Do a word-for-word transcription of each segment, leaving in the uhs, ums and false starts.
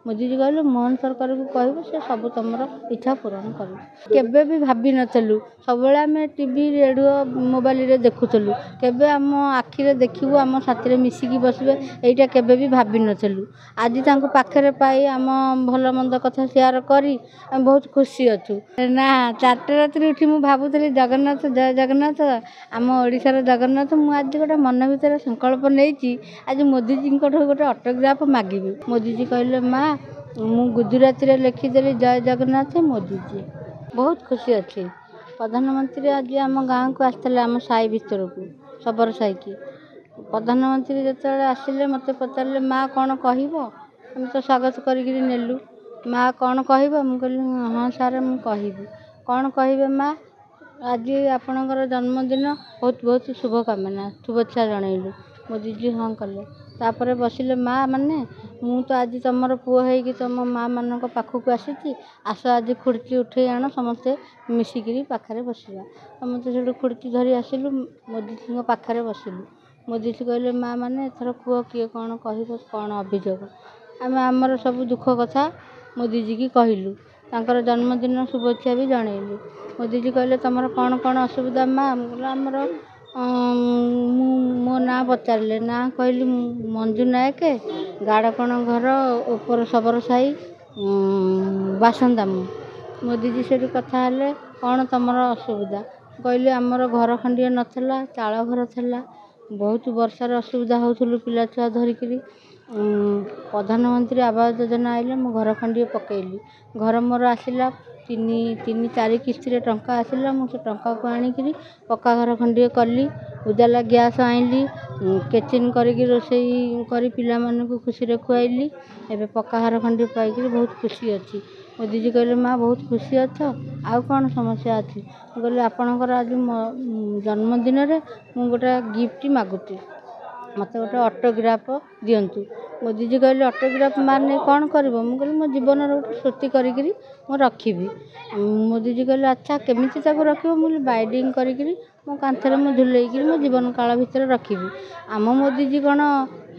ମୋଦିଜୀ କହିଲେ ମୋହନ ସରକାରକୁ କହିବ, ସେ ସବୁ ତୁମର ଇଚ୍ଛା ପୂରଣ କରିବେ। କେବେ ବି ଭାବିନଥିଲୁ। ସବୁବେଳେ ଆମେ ଟିଭି, ରେଡ଼ିଓ, ମୋବାଇଲରେ ଦେଖୁଥିଲୁ। କେବେ ଆମ ଆଖିରେ ଦେଖିବୁ, ଆମ ସାଥିରେ ମିଶିକି ବସିବେ, ଏଇଟା କେବେ ବି ଭାବିନଥିଲୁ। ଆଜି ତାଙ୍କୁ ପାଖରେ ପାଇ ଆମ ଭଲ ମନ୍ଦ କଥା ସେୟାର କରି ଆମେ ବହୁତ ଖୁସି ଅଛୁ। ନା, ଚାରିଟା ରାତିରେ ଉଠି ମୁଁ ଭାବୁଥିଲି, ଜଗନ୍ନାଥ, ଜୟ ଜଗନ୍ନାଥ, ଆମ ଓଡ଼ିଶାର ଜଗନ୍ନାଥ। ମୁଁ ଆଜି ଗୋଟେ ମନ ଭିତରେ ସଂକଳ୍ପ ନେଇଛି, ଆଜି ମୋଦିଜୀଙ୍କଠୁ ଗୋଟେ ଅଟୋଗ୍ରାଫ ମାଗିବି। ମୋଦିଜୀ କହିଲେ, ମା, ମୁଁ ଗୁଜୁରାତିରେ ଲେଖିଦେଲି ଜୟ ଜଗନ୍ନାଥ ମୋଦିଜୀ। ବହୁତ ଖୁସି ଅଛି। ପ୍ରଧାନମନ୍ତ୍ରୀ ଆଜି ଆମ ଗାଁକୁ ଆସିଥିଲେ, ଆମ ସାହି ଭିତରକୁ, ଶବର ସାହିକି। ପ୍ରଧାନମନ୍ତ୍ରୀ ଯେତେବେଳେ ଆସିଲେ, ମୋତେ ପଚାରିଲେ, ମା କ'ଣ କହିବ? ଆମେ ତ ସ୍ୱାଗତ କରିକିରି ନେଲୁ। ମା କ'ଣ କହିବ? ମୁଁ କହିଲି, ହଁ ସାର୍, ମୁଁ କହିବି। କ'ଣ କହିବେ ମା? ଆଜି ଆପଣଙ୍କର ଜନ୍ମଦିନ, ବହୁତ ବହୁତ ଶୁଭକାମନା, ଶୁଭେଚ୍ଛା ଜଣେଇଲୁ। ମୋଦିଜୀ ହଁ କଲେ। ତାପରେ ବସିଲେ, ମା ମାନେ, ମୁଁ ତ ଆଜି ତୁମର ପୁଅ ହେଇକି ତୁମ ମା ମାନଙ୍କ ପାଖକୁ ଆସିଛି। ଆସ, ଆଜି ଖୁର୍ଚି ଉଠେଇ ଆଣ, ସମସ୍ତେ ମିଶିକିରି ପାଖରେ ବସିବା। ସମସ୍ତେ ସେଇଠୁ ଖୁର୍ଚି ଧରି ଆସିଲୁ, ମୋଦିଜୀଙ୍କ ପାଖରେ ବସିଲୁ। ମୋଦିଜୀ କହିଲେ, ମା ମାନେ, ଏଥର କୁହ, କିଏ କ'ଣ କହିବ, କ'ଣ ଅଭିଯୋଗ? ଆମେ ଆମର ସବୁ ଦୁଃଖ କଥା ମୋଦିଜୀକି କହିଲୁ, ତାଙ୍କର ଜନ୍ମଦିନ ଶୁଭେଚ୍ଛା ବି ଜଣେଇଲୁ। ମୋଦିଜୀ କହିଲେ, ତୁମର କ'ଣ କ'ଣ ଅସୁବିଧା ମା? ମୁଁ କହିଲି ଆମର, ମୁଁ ମୋ ନାଁ ପଚାରିଲେ, ନାଁ କହିଲି ମଞ୍ଜୁ ନାୟକ, ଗାଡ଼କଣ ଘର, ଉପର ଶବର ସାହି ବାସନ୍ଦା ମୁଁ। ମୋଦିଜୀ ସେଇଠୁ କଥା ହେଲେ, କ'ଣ ତୁମର ଅସୁବିଧା? କହିଲି, ଆମର ଘର ଖଣ୍ଡିଏ ନଥିଲା, ଚାଳ ଘର ଥିଲା, ବହୁତ ବର୍ଷାରେ ଅସୁବିଧା ହେଉଥିଲୁ ପିଲା ଛୁଆ ଧରିକିରି। ପ୍ରଧାନମନ୍ତ୍ରୀ ଆବାସ ଯୋଜନା ଆସିଲେ ମୁଁ ଘର ଖଣ୍ଡିଏ ପକେଇଲି। ଘର ମୋର ଆସିଲା, ତିନି ତିନି ଚାରି କିସ୍ତିରେ ଟଙ୍କା ଆସିଲା। ମୁଁ ସେ ଟଙ୍କାକୁ ଆଣିକିରି ପକ୍କା ଘର ଖଣ୍ଡିଏ କଲି, ଉଜାଲା ଗ୍ୟାସ୍ ଆଣିଲି, କିଚେନ୍ କରିକି ରୋଷେଇ କରି ପିଲାମାନଙ୍କୁ ଖୁସିରେ ଖୁଆଇଲି। ଏବେ ପକ୍କା ଘର ଖଣ୍ଡିଏ ପାଇକିରି ବହୁତ ଖୁସି ଅଛି। ମୋଦିଜୀ କହିଲେ, ମା ବହୁତ ଖୁସି ଅଛ, ଆଉ କ'ଣ ସମସ୍ୟା ଅଛି? ମୁଁ କହିଲି, ଆପଣଙ୍କର ଆଜି ମୋ ଜନ୍ମଦିନରେ ମୁଁ ଗୋଟେ ଗିଫ୍ଟ ମାଗୁଛି, ମୋତେ ଗୋଟେ ଅଟୋଗ୍ରାଫ ଦିଅନ୍ତୁ। ମୋଦିଜୀ କହିଲେ, ଅଟୋଗ୍ରାଫ ମାନେ କ'ଣ କରିବ? ମୁଁ କହିଲି, ମୋ ଜୀବନର ଗୋଟେ ସ୍ମୃତି କରିକିରି ମୁଁ ରଖିବି। ମୋଦିଜୀ କହିଲେ, ଆଚ୍ଛା, କେମିତି ତାକୁ ରଖିବ? ମୁଁ କହିଲି, ବାଇଣ୍ଡିଂ କରିକିରି ମୋ କାନ୍ଥରେ ମୁଁ ଝୁଲେଇକିରି ମୋ ଜୀବନ କାଳ ଭିତରେ ରଖିବି। ଆମ ମୋଦିଜୀ କ'ଣ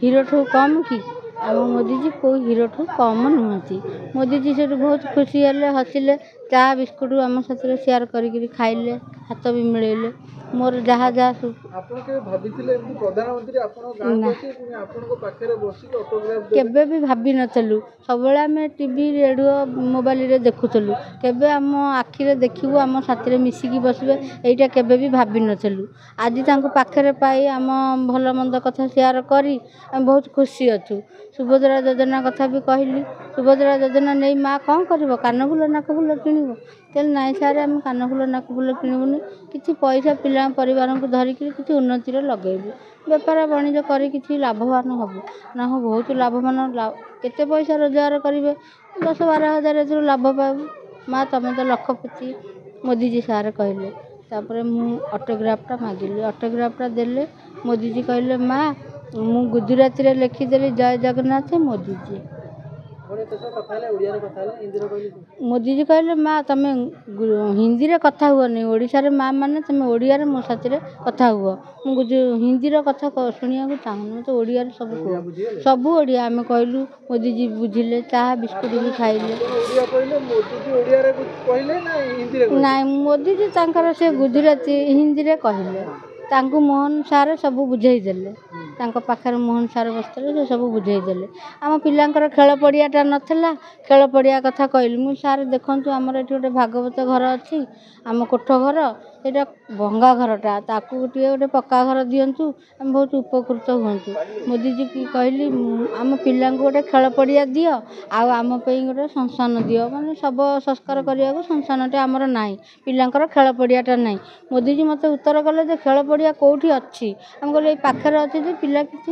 ହିରୋଠୁ କମ୍ କି? ଆମ ମୋଦିଜୀ କେଉଁ ହିରୋଠୁ କମ୍ ନୁହନ୍ତି। ମୋଦିଜୀ ସେଇଠୁ ବହୁତ ଖୁସି ହେଲେ, ହସିଲେ, ଚା ବିସ୍କୁଟ ଆମ ସାଥିରେ ସେୟାର କରିକିରି ଖାଇଲେ, ହାତ ବି ମିଳେଇଲେ। ମୋର ଯାହା ଯାହା ସବୁ ଆପଣ କେବେ ଭାବିଥିଲେ ଏମିତି ପ୍ରଧାନମନ୍ତ୍ରୀ ଆପଣଙ୍କ ଗାଁକୁ ନା। ଆସିବେ, ପୁଣି ଆପଣଙ୍କ ପାଖରେ ବସିକି ଅଟୋଗ୍ରାଫ ଦେବେ? କେବେ ବି ଭାବିନଥିଲୁ। ସବୁବେଳେ ଆମେ ଟିଭି, ରେଡ଼ିଓ, ମୋବାଇଲରେ ଦେଖୁଥିଲୁ। କେବେ ଆମ ଆଖିରେ ଦେଖିବୁ, ଆମ ସାଥିରେ ମିଶିକି ବସିବେ, ଏଇଟା କେବେ ବି ଭାବିନଥିଲୁ। ଆଜି ତାଙ୍କୁ ପାଖରେ ପାଇ ଆମ ଭଲ ମନ୍ଦ କଥା ସେୟାର କରି ଆମେ ବହୁତ ଖୁସି ଅଛୁ। ସୁଭଦ୍ରା ଯୋଜନା କଥା ବି କହିଲି। ସୁଭଦ୍ରା ଯୋଜନା ନେଇ ମା କ'ଣ କରିବ, କାନଫୁଲ ନାକଫୁଲ କିଣିବ? କହିଲେ, ନାଇଁ ସାର୍, ଆମେ କାନଫୁଲ ନାକଫୁଲ କିଣିବୁନି, କିଛି ପଇସା ପିଲା ପରିବାରଙ୍କୁ ଧରିକିରି କିଛି ଉନ୍ନତିରେ ଲଗେଇବୁ, ବେପାର ବାଣିଜ୍ୟ କରି କିଛି ଲାଭବାନ ହେବୁ। ନା, ହଁ, ବହୁତ ଲାଭବାନ। କେତେ ପଇସା ରୋଜଗାର କରିବେ? ଦଶ ବାର ହଜାର ଏଥିରୁ ଲାଭ ପାଇବୁ। ମା ତମେ ତ ଲକ୍ଷପତି, ମୋଦିଜୀ ସାର୍ କହିଲେ। ତାପରେ ମୁଁ ଅଟୋଗ୍ରାଫଟା ମାଗିଲି, ଅଟୋଗ୍ରାଫଟା ଦେଲେ। ମୋଦିଜୀ କହିଲେ, ମା, ମୁଁ ଗୁଜୁରାତିରେ ଲେଖିଦେଲି ଜୟ ଜଗନ୍ନାଥ ମୋଦିଜୀ। ଆପଣ ଏତେ ସହ କଥା ହେଲେ, ଓଡ଼ିଆରେ କଥା ହେଲେ, ହିନ୍ଦୀରେ କହିଲେ? ମୋଦିଜୀ କହିଲେ, ମା ତମେ ହିନ୍ଦୀରେ କଥା ହୁଅନି, ଓଡ଼ିଶାରେ ମା ମାନେ ତମେ ଓଡ଼ିଆରେ ମୋ ସାଥିରେ କଥା ହୁଅ। ମୁଁ ହିନ୍ଦୀର କଥା ଶୁଣିବାକୁ ଚାହୁଁନି, ମୋତେ ଓଡ଼ିଆରେ ସବୁ କୁହ। ଓଡ଼ିଆ ବୁଝିଗଲେ? ସବୁ ଓଡ଼ିଆ ଆମେ କହିଲୁ, ମୋଦିଜୀ ବୁଝିଲେ, ଚାହା ବିସ୍କୁଟ ବି ଖାଇଲେ। ଆପଣ ଓଡ଼ିଆ କହିଲେ, ମୋଦିଜୀ ଓଡ଼ିଆରେ କହିଲେ ନା ହିନ୍ଦୀରେ କହିଲେ? ନାଇଁ, ମୋଦିଜୀ ତାଙ୍କର ସେ ଗୁଜୁରାତି ହିନ୍ଦୀରେ କହିଲେ। ତାଙ୍କୁ ମୋହନ ସାର୍ ସବୁ ବୁଝେଇ ଦେଲେ। ତାଙ୍କ ପାଖରେ ମୋହନ ସାର୍ ବସିଥିଲେ, ସେ ସବୁ ବୁଝେଇ ଦେଲେ। ଆମ ପିଲାଙ୍କର ଖେଳ ପଡ଼ିଆଟା ନଥିଲା, ଖେଳ ପଡ଼ିଆ କଥା କହିଲି ମୁଁ। ସାର୍ ଦେଖନ୍ତୁ, ଆମର ଏଠି ଗୋଟେ ଭାଗବତ ଘର ଅଛି, ଆମ କୋଠ ଘର, ସେଇଟା ଭଙ୍ଗା ଘରଟା, ତାକୁ ଟିକେ ଗୋଟେ ପକ୍କା ଘର ଦିଅନ୍ତୁ, ଆମେ ବହୁତ ଉପକୃତ ହୁଅନ୍ତୁ। ମୋଦିଜୀକି କହିଲି, ଆମ ପିଲାଙ୍କୁ ଗୋଟେ ଖେଳ ପଡ଼ିଆ ଦିଅ, ଆଉ ଆମ ପାଇଁ ଗୋଟେ ଶ୍ମଶାନ ଦିଅ, ମାନେ ଶବ ସଂସ୍କାର କରିବାକୁ ଶ୍ମଶାନଟେ ଆମର ନାହିଁ, ପିଲାଙ୍କର ଖେଳ ପଡ଼ିଆଟା ନାହିଁ। ମୋଦିଜୀ ମୋତେ ଉତ୍ତର କଲେ ଯେ ଖେଳ ପଡ଼ିଆ କେଉଁଠି ଅଛି? ଆମେ କହିଲୁ, ଏଇ ପାଖରେ ଅଛି ଯେ ପିଲା କିଛି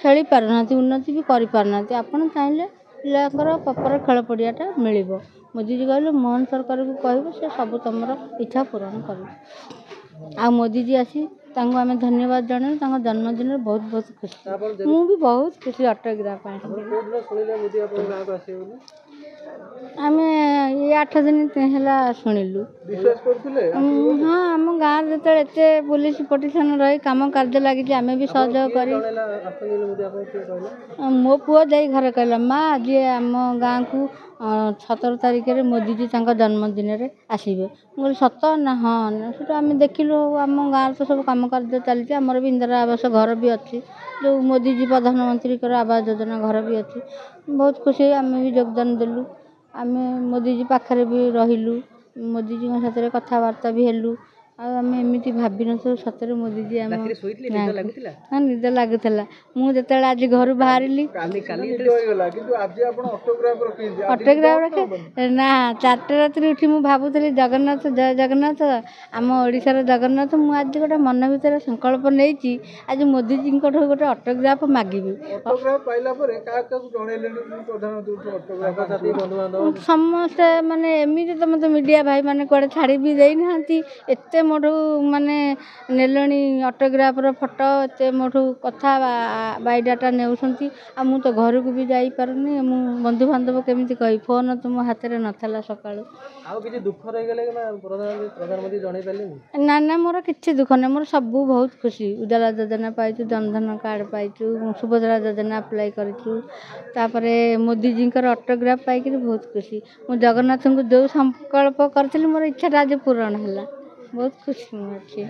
ଖେଳି ପାରୁନାହାନ୍ତି, ଉନ୍ନତି ବି କରିପାରୁନାହାନ୍ତି, ଆପଣ ଚାହିଁଲେ ପିଲାଙ୍କର ପ୍ରପର ଖେଳ ପଡ଼ିଆଟା ମିଳିବ। ମୋଦିଜୀ କହିଲେ, ମୋହନ ସରକାରକୁ କହିବ, ସେ ସବୁ ତୁମର ଇଚ୍ଛା ପୂରଣ କରିବେ। ଆଉ ମୋଦିଜୀ ଆସି ତାଙ୍କୁ ଆମେ ଧନ୍ୟବାଦ ଜଣାଇଲୁ। ତାଙ୍କ ଜନ୍ମଦିନରେ ବହୁତ ବହୁତ ଖୁସି, ମୁଁ ବି ବହୁତ ଖୁସି ଅଟୋଗ୍ରାଫ ପାଇଁ। ଆପଣ କୋଉଦିନ ଶୁଣିଲେ ମୋଦି ଆପଣଙ୍କ ଗାଁକୁ ଆସିବେ ବୋଲି? ଆମେ ଏଇ ଆଠ ଦିନ ହେଲା ଶୁଣିଲୁ। ବିଶ୍ୱାସ କରୁଥିଲେ? ହଁ, ଆମ ଗାଁରେ ଯେତେବେଳେ ଏତେ ପୋଲିସ ପୋଟିସନ୍ ରହି କାମ କାର୍ଯ୍ୟ ଲାଗିଛି, ଆମେ ବି ସହଯୋଗ କରି। ମୋ ପୁଅ ଯାଇ ଘରେ କହିଲା, ମା ଆଜି ଆମ ଗାଁକୁ ସତର ତାରିଖରେ ମୋଦିଜୀ ତାଙ୍କ ଜନ୍ମଦିନରେ ଆସିବେ। ମୁଁ କହିଲି ସତ? ନା ହଁ। ସେଠୁ ଆମେ ଦେଖିଲୁ, ଆମ ଗାଁରେ ତ ସବୁ କାମ କାର୍ଯ୍ୟ ଚାଲିଛି। ଆମର ବି ଇନ୍ଦିରା ଆବାସ ଘର ବି ଅଛି, ଯେଉଁ ମୋଦିଜୀ ପ୍ରଧାନମନ୍ତ୍ରୀଙ୍କର ଆବାସ ଯୋଜନା ଘର ବି ଅଛି। ବହୁତ ଖୁସି ହେଇ ଆମେ ବି ଯୋଗଦାନ ଦେଲୁ। ଆମେ ମୋଦିଜୀ ପାଖରେ ବି ରହିଲୁ, ମୋଦିଜୀଙ୍କ ସାଥିରେ କଥାବାର୍ତ୍ତା ବି ହେଲୁ। ଆଉ ଆମେ ଏମିତି ଭାବିନଥିଲୁ, ସତରେ ମୋଦିଜୀ ଆମ। ହଁ, ନିଦ ଲାଗୁଥିଲା। ମୁଁ ଯେତେବେଳେ ଆଜି ଘରୁ ବାହାରିଲି, ଅଟୋଗ୍ରାଫ ରଖେ ନା, ଚାରିଟା ରାତିରେ ଉଠି ମୁଁ ଭାବୁଥିଲି, ଜଗନ୍ନାଥ, ଜୟ ଜଗନ୍ନାଥ, ଆମ ଓଡ଼ିଶାର ଜଗନ୍ନାଥ, ମୁଁ ଆଜି ଗୋଟେ ମନ ଭିତରେ ସଂକଳ୍ପ ନେଇଛି, ଆଜି ମୋଦିଜୀଙ୍କଠୁ ଗୋଟେ ଅଟୋଗ୍ରାଫ ମାଗିବି। ସମସ୍ତେ ମାନେ ଏମିତି ତ ମୋତେ ମିଡ଼ିଆ ଭାଇମାନେ କୁଆଡ଼େ ଛାଡ଼ି ବି ଦେଇନାହାନ୍ତି। ଏତେ ମୋଠୁ ମାନେ ନେଲେଣି ଅଟୋଗ୍ରାଫର ଫଟୋ, ଏତେ ମୋଠୁ କଥା ବାୟୋଡାଟା ନେଉଛନ୍ତି। ଆଉ ମୁଁ ତ ଘରକୁ ବି ଯାଇପାରୁନି, ମୁଁ ବନ୍ଧୁବାନ୍ଧବ କେମିତି କହିବି? ଫୋନ୍ ତ ମୋ ହାତରେ ନଥିଲା ସକାଳୁ। ଆଉ କିଛି ଦୁଃଖ ରହିଗଲେ ପ୍ରଧାନମନ୍ତ୍ରୀ ଜଣେଇ ପାରିଲେନି? ନା ନା, ମୋର କିଛି ଦୁଃଖ ନାହିଁ, ମୋର ସବୁ ବହୁତ ଖୁସି। ଉଜାଲା ଯୋଜନା ପାଇଛୁ, ଜନଧନ କାର୍ଡ଼ ପାଇଛୁ, ସୁଭଦ୍ରା ଯୋଜନା ଆପ୍ଲାଏ କରିଛୁ, ତାପରେ ମୋଦିଜୀଙ୍କର ଅଟୋଗ୍ରାଫ ପାଇକିରି ବହୁତ ଖୁସି। ମୁଁ ଜଗନ୍ନାଥଙ୍କୁ ଯେଉଁ ସଂକଳ୍ପ କରିଥିଲି, ମୋର ଇଚ୍ଛାଟା ଆଜି ପୂରଣ ହେଲା। ବହୁତ ଖୁସି ମୁଁ ଅଛି।